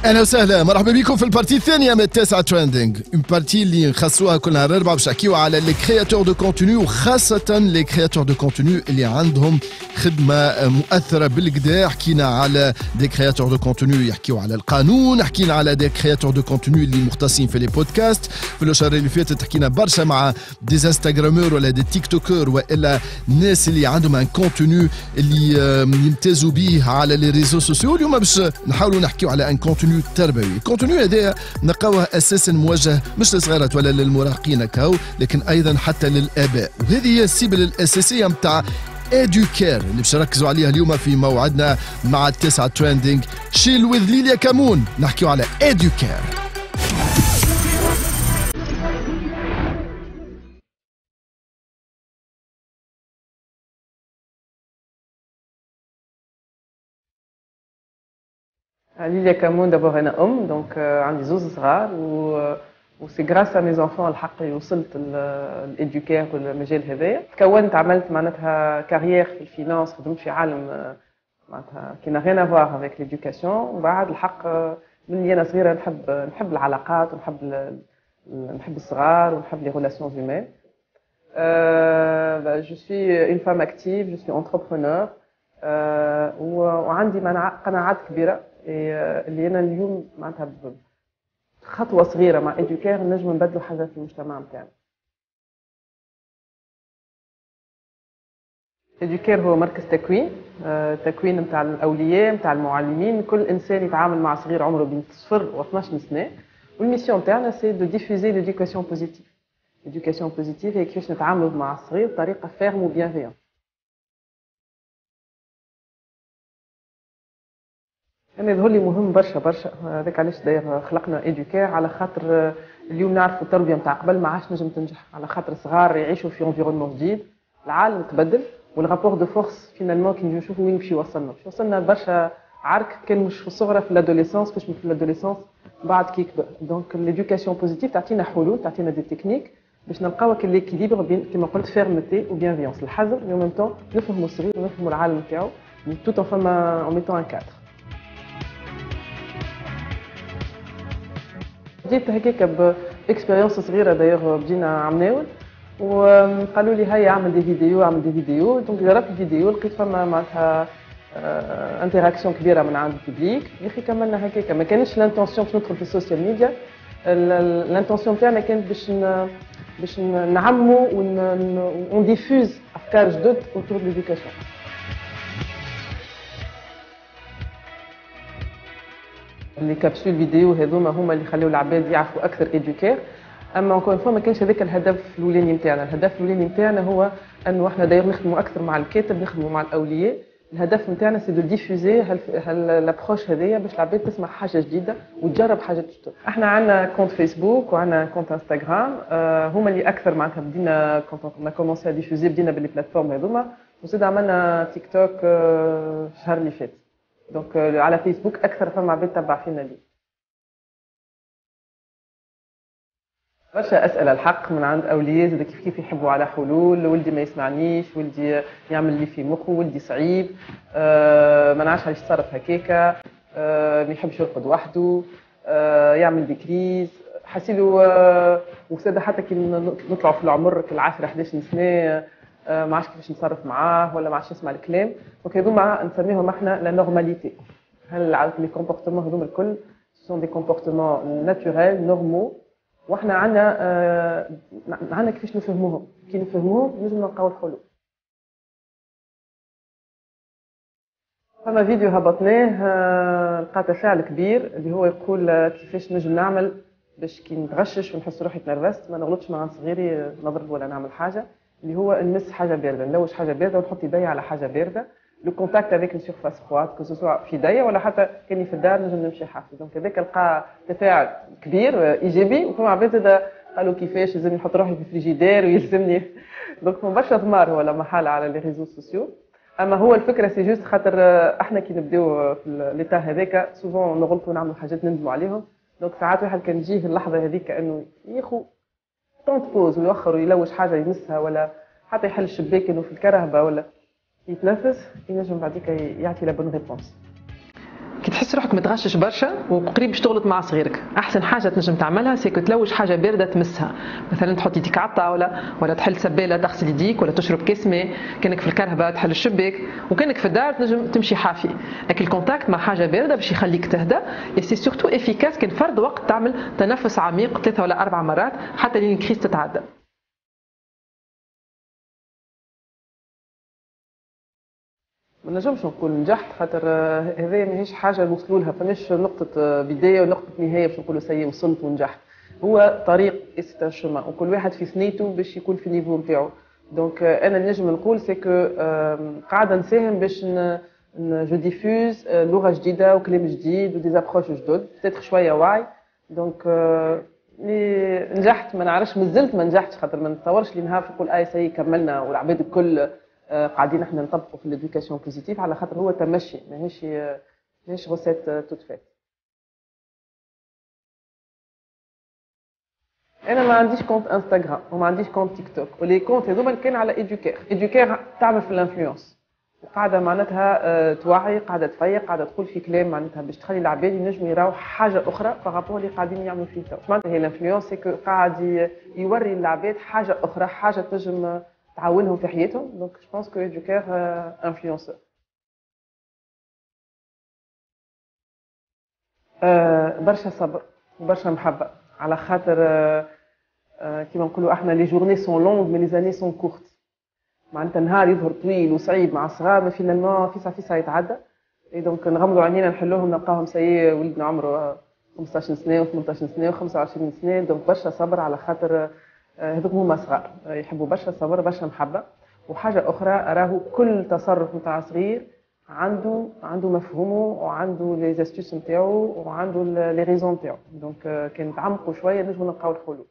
اهلا وسهلا، مرحبا بكم في ال partie الثانية من التاسعة trending، une partie اللي نخصوها كل نهار اربعة باش نحكيو على les créateurs de contenu، وخاصة les créateurs de contenu اللي عندهم خدمة مؤثرة بالكدا. حكينا على des créateurs de contenu يحكيو على القانون، حكينا على des créateurs de contenu اللي مختصين في les podcasts. في الشهر اللي فاتت حكينا برشا مع des instagrameurs ولا des tiktokeurs والا الناس اللي عندهم un contenu اللي يمتازوا به على les réseaux sociaux. اليوم باش نحاولوا نحكيو على un contenu تربوي. ال contenu هذا نلقاوه اساسا موجه مش للصغيرات ولا للمراهقين كاو، لكن ايضا حتى للاباء، وهذه هي ال cible الاساسية نتاع Educare اللي باش نركزوا عليها اليوم في موعدنا مع التسعة trending. Chill with ليليا كامون، نحكيو على Educare. ليليا كامون، d'abord انا ام، donc عندي زوز صغار و c'est grâce à mes enfants الحق وصلت ال Educare والمجال هذايا. تكونت عملت معناتها carrière في ال finance، خدمت في عالم معناتها qui n'a rien à voir avec l'éducation. وبعد الحق من انا صغيرة نحب العلاقات ونحب نحب الصغار ونحب les relations humaines. je suis une femme active، je suis entrepreneur، وعندي قناعات كبيرة اللي انا اليوم معناتها خطوة صغيرة مع Educare نجم نبدلوا حاجة في المجتمع نتاعنا. Educare هو مركز تكوين، تكوين نتاع الاولياء نتاع المعلمين، كل انسان يتعامل مع صغير عمره بين 0 و 12 سنة. وال mission تاعنا c'est de diffuser l'éducation positive. l'éducation positive هي كيفاش نتعاملوا مع الصغير بطريقة ferme و bienveillante. أنا يظهر لي مهم برشا برشا، هذاك علاش داير خلقنا Educare، على خاطر اليوم نعرفوا التربية نتاع قبل ما عادش نجم تنجح، على خاطر صغار يعيشوا في environnement جديد، العالم تبدل، وال rapport de force finalement كي نجيو نشوفوا وين باش يوصلنا، باش يوصلنا برشا عرك كان مش في الصغرى في l'adolescence، باش في l'adolescence بعد كي يكبر. donc l'éducation positive تعطينا حلول، تعطينا des techniques باش نلقاو l'équilibre بين كيما قلت fermeté و bienveillance، الحزم mais même temps نفهموا الصغير ونفهموا العالم نتاعو tout en فما en mettant un cadre. بديت هكاك ب expérience صغيرة، دايوغ بدينا عمناول وقالوا لي هيا اعمل des vidéos، اعمل des vidéos. donc جربت الفيديو لقيت فما معناتها interaction كبيرة من عند ال public، يا اخي كملنا هكاك. ما كانش l'intention باش ندخل في ال social media، l'intention تاعنا كانت باش نعموا on diffuse افكار جدد autour de l'éducation. les capsules vidéo هذوما هما اللي خليو العباد يعرفوا اكثر Educare. اما encore une fois ما كانش هذاك الهدف الاولاني نتاعنا. الهدف الاولاني نتاعنا هو انه احنا داير نخدموا اكثر مع الكاتب، نخدموا مع الاولياء. الهدف نتاعنا c'est de diffuser l'approche هذيا باش العباد تسمع حاجة جديدة وتجرب حاجة جديدة. احنا عندنا compte فيسبوك وعندنا compte انستغرام، هما اللي اكثر معناتها بدينا quand on a commencé à diffuser، بدينا ب les plateformes هذوما، وزيد عملنا تيك توك الشهر اللي فات. donc على فيسبوك اكثر فما عباد تبع فينا لي. برشا اسئلة الحق من عند اولياء زاد كيف كيف يحبوا على حلول، ولدي ما يسمعنيش، ولدي يعمل اللي في مخه، ولدي صعيب، ما نعرفش علاش يتصرف هكاكا، ما يحبش يرقد وحده، يعمل des crises حسيلو. وزاد حتى كي نطلعوا في العمر كال 10 11 سنة ما عادش كيفاش نتصرف معاه ولا ما عادش يسمع الكلام. donc هذوما نسميهم احنا la normalité. هل les comportements هذوما الكل sont des comportements naturels normaux، واحنا عندنا كيفاش نفهموهم، كي نفهموهم نجم نلقاو الحلول. فما فيديو هبطناه لقى تفاعل كبير اللي هو يقول كيفاش نجم نعمل باش كي نتغشش ونحس روحي تنرفزت ما نغلطش مع صغيري نضرب ولا نعمل حاجة، اللي هو نمس حاجة باردة، نلوش حاجة باردة ونحط يدي على حاجة باردة، le contact avec une surface froide que ce soit في يدي ولا حتى كاني في الدار نجم نمشي حافي. donc هذاك لقى تفاعل كبير ايجابي، وفما عباد زاد قالوا كيفاش لازم نحط روحي في فريجيدير ويلزمني. donc فما برشا ثمار هو لا محالة على les réseaux sociaux. اما هو الفكرة c'est juste خاطر احنا كي نبداو في l'état هذاك souvent نغلطوا ونعملوا حاجات نندموا عليهم. donc ساعات واحد كان يجيه اللحظة هذيك انه ياخو temps de pause ويوخر ويلوش حاجة يمسها ولا حتى يحل الشباك انه في الكرهبه ولا يتنفس، ينجم بعديك يعطي la bonne réponse. تحس روحك متغشش برشا وقريب باش تغلط مع صغيرك، احسن حاجة تنجم تعملها c'est que تلوج حاجة باردة تمسها، مثلا تحط يديك على الطاولة ولا تحل سباله تغسل يديك ولا تشرب كاس ماء، كانك في الكرهبه تحل الشباك، وكانك في الدار تنجم تمشي حافي، لكن ال contact مع حاجة باردة باش يخليك تهدى، et c'est surtout efficace كان فرد وقت تعمل تنفس عميق 3 ولا 4 مرات حتى لين ال crise تتعدى. ما نجمش نقول نجحت خاطر هذايا ماهيش حاجة نوصلوا لها، فماش نقطة بداية ونقطة نهاية باش نقولوا ça y est وصلت ونجحت. هو طريق c'est un chemin وكل واحد في ثنيته باش يكون في ال niveau نتاعو. donc انا نجم نقول c'est que قاعدة نساهم باش je diffuse لغة جديدة وكلام جديد و des approches جدد peut-être شوية وعي. donc نجحت ما نعرفش، مازلت ما نجحتش خاطر ما نتصورش لي نهار نقول اي ça y est كملنا والعباد الكل قاعدين احنا نطبقوا في l'éducation positive، على خاطر هو تمشي ماهيش recette toute faite. انا ما عنديش compte انستغرام وما عنديش compte تيك توك، و les comptes هذوما كان على Educare. Educare تعمل في l'influence وقاعدة معناتها توعي، قاعدة تفيق، قاعدة تقول في كلام معناتها باش تخلي العباد ينجموا يراو حاجة اخرى par rapport اللي قاعدين يعملوا فيه تو. معناتها هي l'influence c'est que قاعد يوري العباد حاجة اخرى، حاجة تنجم تعاونهم في حياتهم. donc je pense que Educare influenceur. برشا صبر وبرشا محبة، على خاطر كيما نقولوا احنا les journées sont longues mais les années sont courtes. معناتها نهار يظهر طويل وصعيب مع الصغار، mais finalement فيسع فيسع يتعدى. et donc نغمضوا عينينا نحلوهم نلقاهم ça y est ولدنا عمره 15 سنة و18 سنة و25 سنة. donc برشا صبر على خاطر هذوك هما صغار يحبوا برشا صبر برشا محبة. وحاجه اخرى راهو كل تصرف نتاع صغير عنده مفهومه وعنده les astuces نتاعو وعنده les raisons نتاعو. donc كان نتعمقوا شوية نجموا نلقاو الحلول.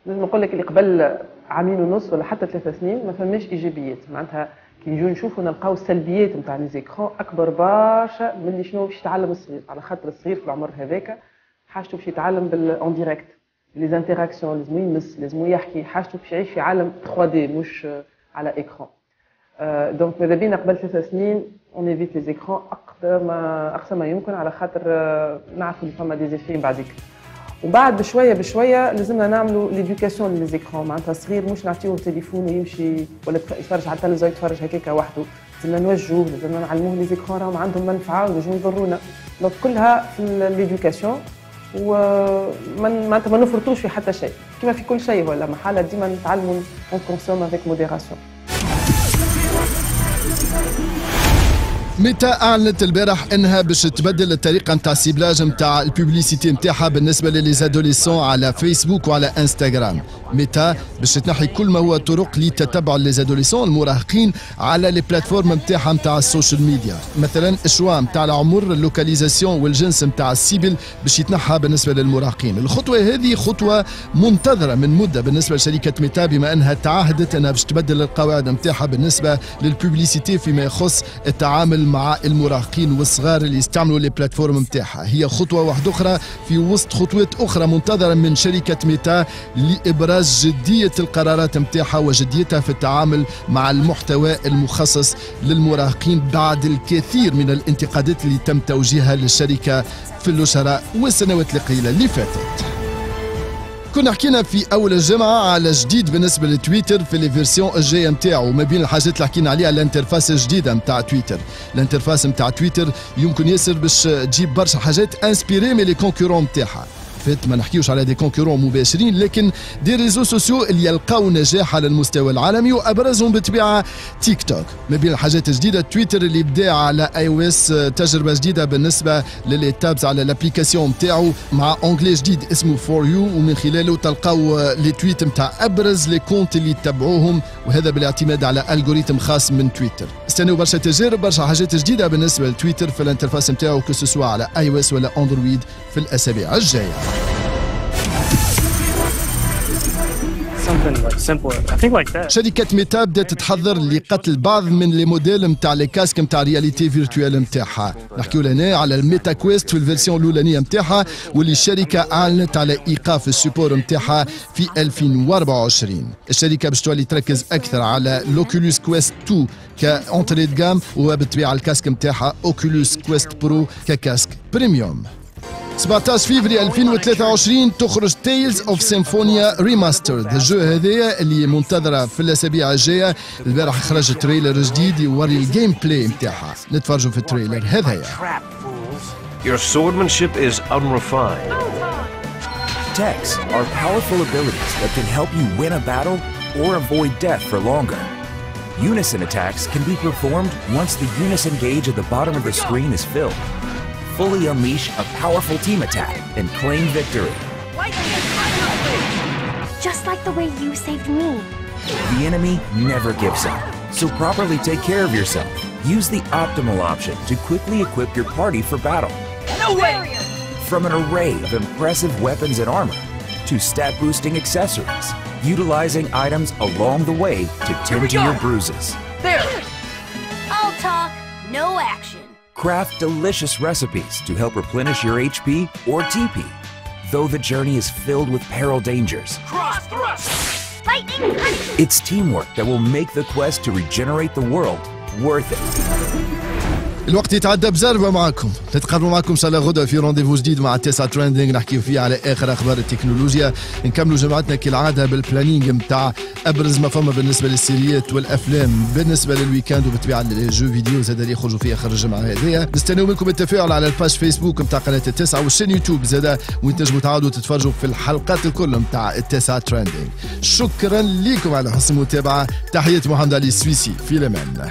نجم نقول لك اللي قبل 2.5 عام ولا حتى 3 سنين ما فماش ايجابيات، معناتها كي نجيو نشوفوا نلقاو السلبيات نتاع les écrans اكبر برشا من اللي شنو باش يتعلم الصغير، على خاطر الصغير في العمر هذاك حاجته باش يتعلم بال en direct، les interactions، لازم يمس، لازم يحكي، حاجته باش يعيش في عالم 3D مش على écran. donc ماذا بينا قبل 3 سنين on évite les écrans اقصى ما يمكن، على خاطر نعرفوا اللي فما des effets بعديك. وبعد بشوية بشوية لازمنا نعملوا l'éducation les écrans، معناتها صغير مش نعطيوه تليفون ويمشي ولا يتفرج على التلفزيون يتفرج هكاك وحده، لازمنا نوجهوه، لازمنا نعلموه les écrans راهم عندهم منفعه وينجموا يضرونا. donc كلها في l'éducation، وما معناتها ما نفرطوش في حتى شيء، كما في كل شيء ولا محالة ديما نتعلموا on consomme avec modération. ميتا اعلنت البارح انها باش تبدل الطريقة نتاع ciblage نتاع ال publicité نتاعها بالنسبة ل les adolescents على فيسبوك وعلى انستغرام. ميتا باش تنحي كل ما هو طرق لتتبع les adolescents المراهقين على les plateformes نتاعها نتاع ال social media، مثلا ال choix نتاع العمر، ال localisation والجنس نتاع ال cible باش يتنحى بالنسبة للمراهقين. الخطوة هذه خطوة منتظره من مده بالنسبة لشركة ميتا، بما انها تعهدت انها باش تبدل القواعد نتاعها بالنسبة لل publicité فيما يخص التعامل مع المراهقين والصغار اللي يستعملوا les plateformes نتاعها. هي خطوة واحدة اخرى في وسط خطوات اخرى منتظره من شركة ميتا لابراز جدية القرارات نتاعها وجديتها في التعامل مع المحتوى المخصص للمراهقين بعد الكثير من الانتقادات اللي تم توجيهها للشركة في الاشهر والسنوات القليلة اللي فاتت. كنا حكينا في اول الجمعة على جديد بالنسبة لتويتر في les versions الجاية نتاعو، ما بين الحاجات اللي حكينا عليها l'interface الجديدة نتاع تويتر. l'interface نتاع تويتر يمكن ياسر باش تجيب برشا حاجات inspirées من les concurrents نتاعها. فات ما نحكيوش على des concurrents مباشرين، لكن des réseaux sociaux اللي يلقاو نجاح على المستوى العالمي، وابرزهم بالطبيعة تيك توك. ما بين الحاجات الجديدة تويتر اللي بدا على iOS تجربه جديدة بالنسبة ل les tabs على l'application نتاعو مع onglet جديد اسمه For You، ومن خلاله تلقاو les tweets نتاع ابرز les comptes اللي تتبعوهم، وهذا بالاعتماد على algorithme خاص من تويتر. استناو برشا تجارب، برشا حاجات جديدة بالنسبة لتويتر في l'interface نتاعو، que ce soit على iOS ولا اندرويد في الاسابيع الجاية. Something like simpler. I think like that. شركة ميتا بدأت تحضر لقتل بعض من les modèles نتاع les casques نتاع réalité virtuelle نتاعها. نحكيو لهنا على ال Meta Quest في ال version الاولانية نتاعها، واللي الشركة اعلنت على ايقاف ال support نتاعها في 2024. الشركة باش تولي تركز اكثر على l'Oculus Quest 2 ك entrée de gamme، وبالطبيعه ال casque نتاعها Oculus Quest Pro ك casque premium. 17 فيفري 2023 تخرج Tales of Symphonia Remastered، ال jeu هذايا اللي منتظره في الاسابيع الجايه. البارح خرج trailer جديد يوري ال gameplay نتاعها. نتفرجوا في ال trailer هذايا. Your swordsmanship is unrefined. Techs are powerful abilities that can help you win a battle or avoid death for longer. Unison attacks can be performed once the Unison gauge at the bottom of the screen is filled. Fully unleash a powerful team attack and claim victory. Just like the way you saved me. The enemy never gives up, so properly take care of yourself. Use the optimal option to quickly equip your party for battle. No way! From an array of impressive weapons and armor to stat boosting accessories, utilizing items along the way to tend to your bruises. There! All talk, no action. Craft delicious recipes to help replenish your HP or TP. Though the journey is filled with peril dangers, Cross thrust! Lightning punch! it's teamwork that will make the quest to regenerate the world worth it. الوقت يتعدى بزربة معكم. نتقابلوا معكم ان شاء الله غدا في rendez-vous جديد مع تسعة Trending، نحكيو فيه على اخر اخبار التكنولوجيا. نكملوا جمعتنا كالعادة بال planning نتاع ابرز ما فما بالنسبة للسيريات والافلام بالنسبة لل week-end، وبالطبيعه les jeux vidéo زاد اللي يخرجوا في اخر الجمعة هذيا. نستناو منكم التفاعل على ال page Facebook نتاع قناة التسعة وال chaîne YouTube زاد، وين تنجموا تعاودوا تتفرجوا في الحلقات الكل نتاع التسعة Trending. شكرا لكم على حسن المتابعه. تحية محمد علي السويسي، في الامان.